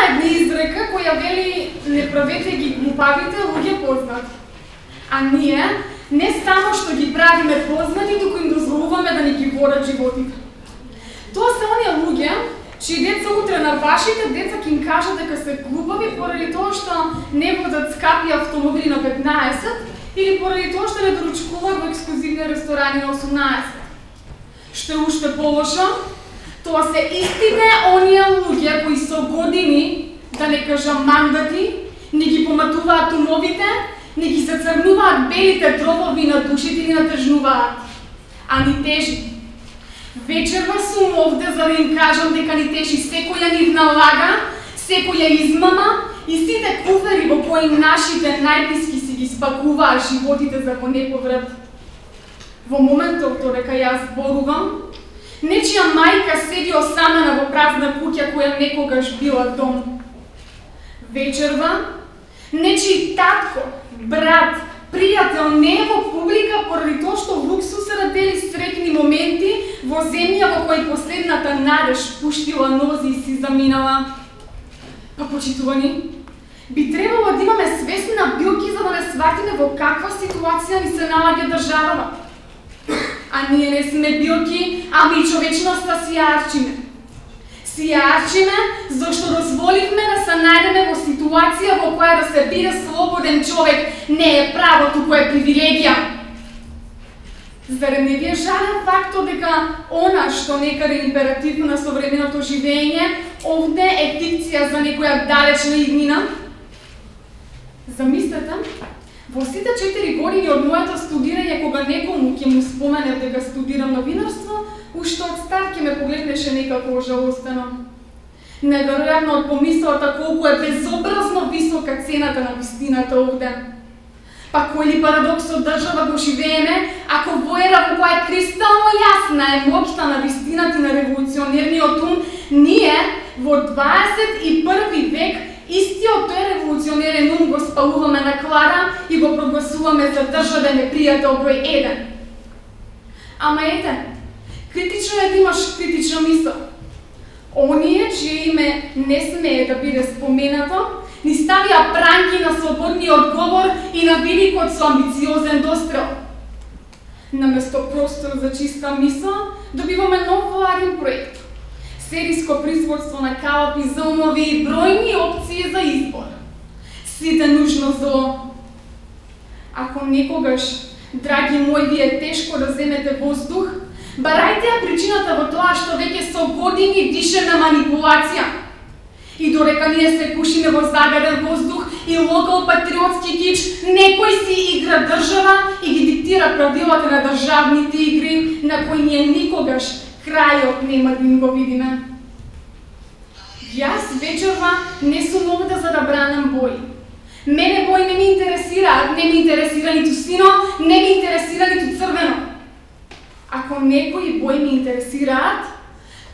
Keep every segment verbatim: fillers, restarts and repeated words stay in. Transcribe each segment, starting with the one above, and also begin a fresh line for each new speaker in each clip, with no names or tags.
една изрека која вели не правете ги глупавите луѓе познати. А ние не само што ги правиме познати, туку им дозволуваме да ни ги водат животите. Тоа се оние луѓе чии деца утре на вашите деца ќе им кажат дека се глупави поради тоа што не водат скапи автомобили на петнаесет или поради тоа што не доручкуваат во ексклузивни ресторани на осумнаесет. Што е уште полошо, тоа се истите оние луѓе кои со години, да не кажам мандати, не ги поматуваат умовите, не ги зацрнуваат белите дробови на душите и натежнуваат, а ни тежи. Вечерва сум овде за да им кажам дека ни тежи секоја нивна лага, секоја измама и сите куфери во кои нашите најблиски си ги спакуваат животите за во неповрат. Во моментот додека јас зборувам, нечија мајка седи осамена во празна куќа која некогаш била дом. Вечерва, нечiji татко, брат, пријател не е во публика поради тоа што луксусот дели среќни моменти во земја во кој последната надеж пуштила нози и си заминала. Па почитувани, би требало да имаме свесна билки за да не сватиме во каква ситуација ни се наоѓа државава. А ние не сме билки, ами и човечноста си ја арчиме. Си ја арчиме зашто дозволивме да се најдеме во ситуација во која да се биде слободен човек не е право, туку е привилегија. Зарем не ви е жален фактот дека она што некаде е императив на современото живење, овде е фикција за некоја далечна иднина? Замислете, во сите четири години од моето студирање, кога некому ќе му споменев дека студирам новинарство, уште од старт ќе ме погледнеше некако ожалостено. Неверојатно од помислата колку е безобразно висока цената на вистината овде. Па кој ли парадокс од држава го живееме, ако во ера во која е кристално јасна е моќта на вистината и на револуционерниот ум, ние во дваесет и први век истиот тој револуционерен ум го спалуваме на клара и го прогласуваме за државен непријател број еден. Ама ете, критично е да имаш критична мисла. Оние, чие име не смее да биде споменато, ни ставија пранки на слободниот говор и на великот со амбициозен дострел. Наместо простор за чиста мисла, добиваме нов владин проект. Сериско производство на калапи за умови и бројни опции за избор. Сите нужно зло. Ако некогаш, драги мои, ви е тешко да земете воздух, барајте ја причината во тоа што веќе со години дишеме манипулација. И додека ние се пушиме во загаден воздух и локал патриотски кич, некој си игра држава и ги диктира правилата на државните игри, на кои ние никогаш крајот нема да им го видиме. Јас вечерва не сум овде за да бранам бои. Мене бои не ми интересираат, не ми интересира ниту сино, не ми интересира ниту црвено. Ако некои бои ми интересираат,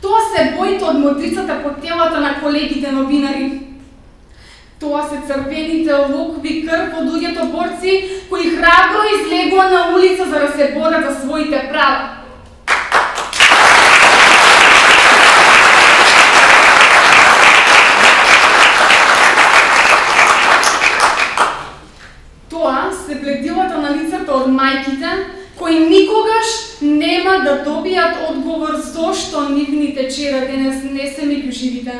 тоа се боите од модрицата по телата на колегите новинари. Тоа се црвените локви крв од луѓето борци кои храбро излегува на улица за да се борат за своите права. Тоа се бледилата на лицето од мајките кои никогаш нема да добијат одговор зошто нивните чера денес не се меѓу живите.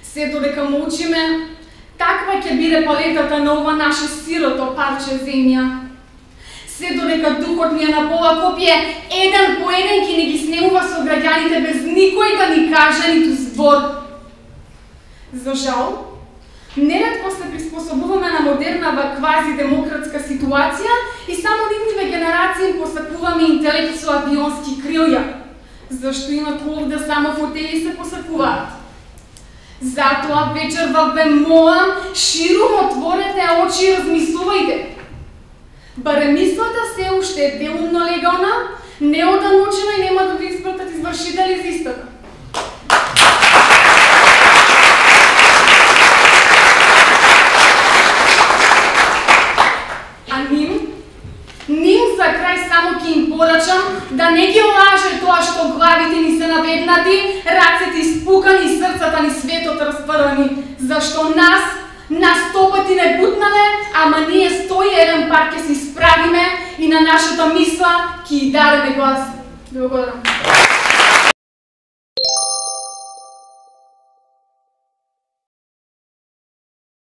Се додека молчиме, таква ќе биде палетата на ова наше сирото парче земја. Се додека духот ни е на пола копие, еден по еден ќе ни ги снемува со граѓаните без никој да ни каже ниту збор. За жал, неретко се приспособуваме на модернава квази-демократска ситуација и само нивниве генерации им посакуваме интелект со авионски крилја, зашто инаку овде само фотели се посакуваат. Затоа вечерва ве молам, ширум отворете очи и размислувајте. Барем мислата се уште е делумно легална, неоданучена и нема да ви испратат извршители за истата. Ним за крај само ќе им порачам да не ги лаже тоа што главите ни се на заведнати, рацете испукани и срцата ни светот распрвани, зашто нас, нас стопати не бутнаме, ама ние стои еден пат ќе се исправиме и на нашата мисла ќе и дадеме глас. Благодарам.